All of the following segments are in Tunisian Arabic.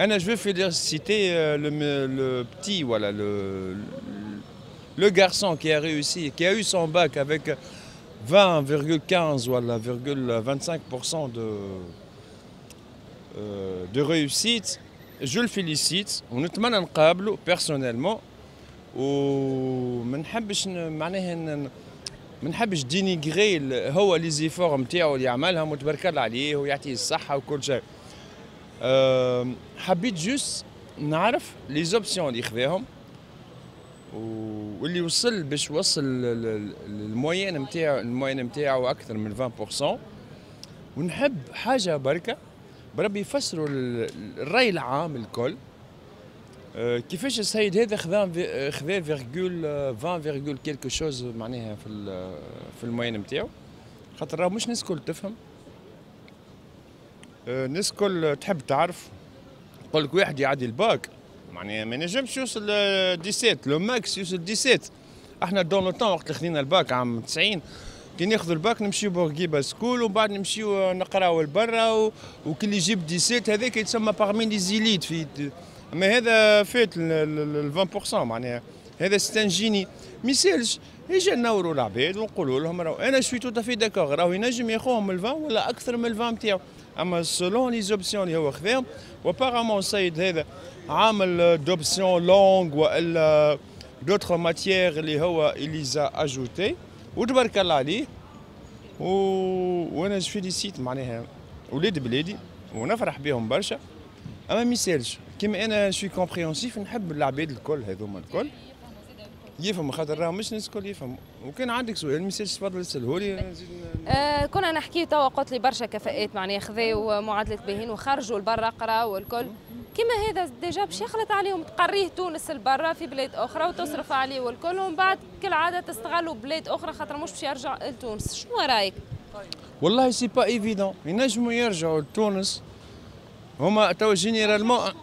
انا je veux féliciter le petit, voilà, le garçon qui a réussi, qui a eu son bac avec 20,15 ولا 25% de réussite. Je le félicite ونتمنى نقابله personnellement، وما نحبش معناها ما نحبش dénigrer هو les efforts نتاعو اللي عملهم، وتبارك الله عليه ويعطيه الصحة وكل شيء. حبيت juste نعرف les options اللي خذاهم واللي وصل باش وصل ال moyenne نتاعو اكثر من 20%. ونحب حاجة بركة بربي يفسروا الراي العام الكل كيفاش السيد هذا خذا virgule 20 virgule quelque chose معناها في ال moyenne نتاعو، خاطر راه مش الناس الكل تفهم. الناس الكل تحب تعرف. يقول لك واحد يعدي الباك معناها ما ينجمش يوصل 17، le max يوصل 17. احنا dans le temps وقت اللي خذينا الباك عام 90، كي ناخذ الباك نمشيو بورقيبة school ومن بعد نمشيو نقراو لبرا، وكل يجيب 17 هذاك يتسمى parmi les élites في. اما هذا فات ال 20%، معناها هذا c'est un génie. ما يسالش يجي نوروا العباد ونقولوا لهم راهو انا je suis tout à fait d'accord، راهو ينجم ياخوهم ال 20 ولا اكثر من ال 20 نتاعو، اما selon les options اللي هو خذاهم، و apparemment السيد هذا عامل d'options langues والا d'autres matières اللي هو il les a ajoutées، وتبارك الله عليه. وانا je félicite معناها ولاد بلادي ونفرح بهم برشا، اما ما يسالش كيما انا je suis compréhensif، نحب العباد الكل هذوما الكل يفهم، خاطر راه مش الناس الكل يفهم. وكان عندك سؤال ما يسالش، تفضل اساله. كنا نحكي توا، قلت لي برشا كفاءات معناها خذاو معادلة باهين وخرجوا لبرا قراو والكل. كيما هذا déjà باش يخلط عليهم، تقريه تونس لبرا في بلاد اخرى وتصرف عليه والكل، ومن بعد كالعادة تستغلوا بلاد اخرى خاطر مش باش يرجع لتونس. شنو رايك؟ والله c'est pas évident ينجموا يرجعوا لتونس هما تو généralement.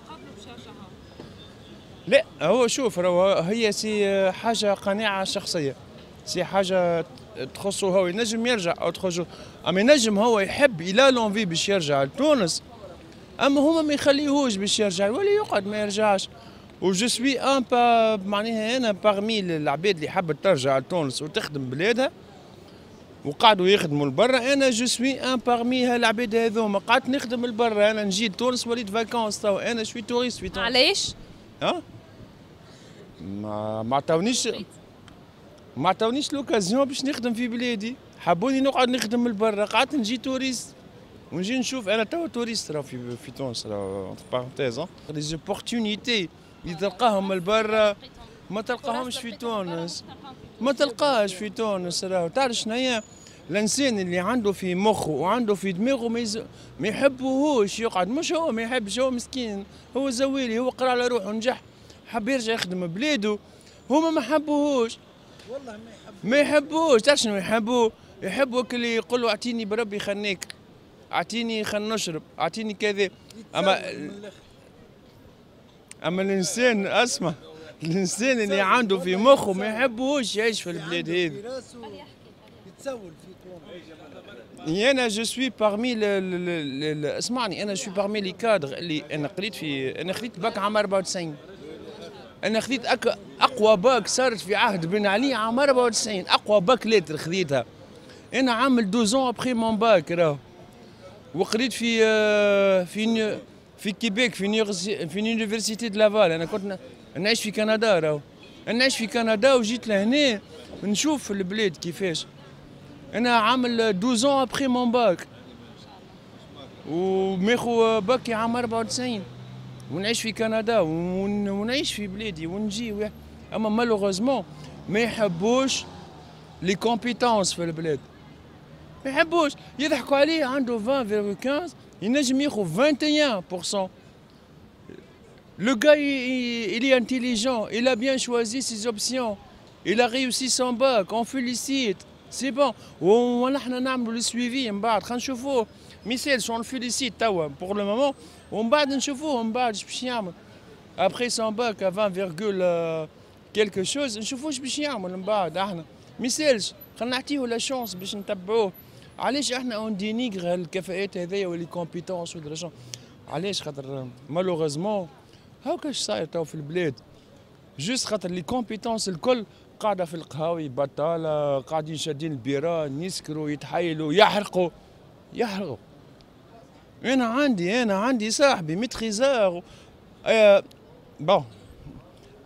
لا، هو شوف، راهو هي c'est حاجة قناعة شخصيه، c'est حاجة تخصه هو، ينجم يرجع او تخرج، اما ينجم هو يحب il a l'envie باش يرجع لتونس، اما هما ما يخليهوش باش يرجع ولا يقعد ما يرجعش. و je suis un معناها انا parmi العباد اللي حبت ترجع لتونس وتخدم بلادها وقعدوا يخدموا لبرا. انا je suis un parmi هالعباد هذوما، قعدت نخدم لبرا. انا نجي لتونس وليت vacances، تو انا je suis touriste في تونس. علاش؟ ها ما عطاونيش l'occasion باش نخدم في بلادي، حبوني نقعد نخدم لبرا، قعدت نجي touriste ونجي نشوف. انا توا touriste راه في تونس، راه entre parenthèses les opportunités اللي تلقاهم لبرا ما تلقاهمش في تونس، ما تلقاش في تونس. راهو تعرف شنو هي؟ الانسان اللي عنده في مخه وعنده في دماغه ما يحبوهوش يقعد. مش هو ما يحبش، هو مسكين، هو زوالي، هو قرا على روحه ونجح، حب يرجع يخدم بلاده، هما ما حبوهوش. والله ما يحب. ما يحبوش. تعرف شنو يحبوا؟ يحبوا اللي يقول له اعطيني بربي خنيك، اعطيني خل نشرب، اعطيني كذا. اما الانسان، اسمع، الانسان اللي عنده في مخه ما يحبوش يعيش في البلاد هذه. يتسول في تونس. انا je suis parmi، اسمعني، انا je suis parmi les cadres اللي انا قريت في، انا خذيت باك عام 94. انا خذيت اقوى باك صارت في عهد بن علي عام 94، اقوى bac lettres خذيتها. انا عامل 12 ans après mon bac راهو، وقريت في كيبيك، في université de Laval. انا كنت نعيش في كندا، راهو نعيش في كندا وجيت لهنا نشوف البلاد كيفاش. انا عامل 12 ans après mon bac وماخو باكي عام 94 ونعيش في كندا ونعيش في بلادي ونجي، اما malheureusement ما يحبوش les compétences في البلاد، ما يحبوش، يضحكوا عليه. عنده 20.15 ينجم ياخذ 21%. Le gars, il est intelligent, il a bien choisi ses options, il a réussi son bac, on félicite, c'est bon. ونحن نعملوا le suivi من بعد، خلينا نشوفوه. ميسالش on le félicite توا pour le moment، ومن بعد نشوفوه من بعد اش باش يعمل. Après son bac à 20, quelque chose، نشوفوه اش باش يعمل من بعد احنا. ميسالش، خلينا نعطيه la chance باش نتبعوه. علاش احنا on dénigre الكفاءات هذيا و les compétences ودرا؟ علاش؟ خاطر malheureusement هاكا صاير تو في البلاد، juste خاطر les compétences الكل قاعدة في القهاوي بطاله، قاعدين شادين البيران، يسكروا، يتحايلوا، يحرقوا يحرقوا. انا عندي صاحبي maîtrisard، bon،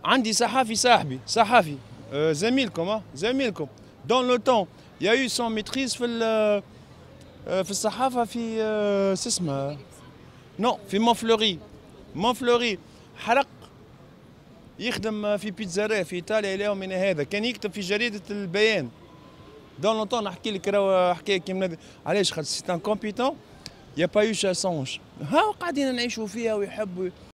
عندي صحافي صاحبي، صحافي زميلكم، زميلكم dans le temps، il a eu sa maîtrise في الصحافة في اسمها non في مونفلوري. مونفلوري حرق، يخدم في pizzeria في ايطاليا الى يومنا هذا، كان يكتب في جريدة البيان dans le temps. نحكي لك راهو حكاية كيما علاش؟ خاطر c'est un compétent، y a pas eu ça change. ها قاعدين نعيشوا فيها ويحبوا.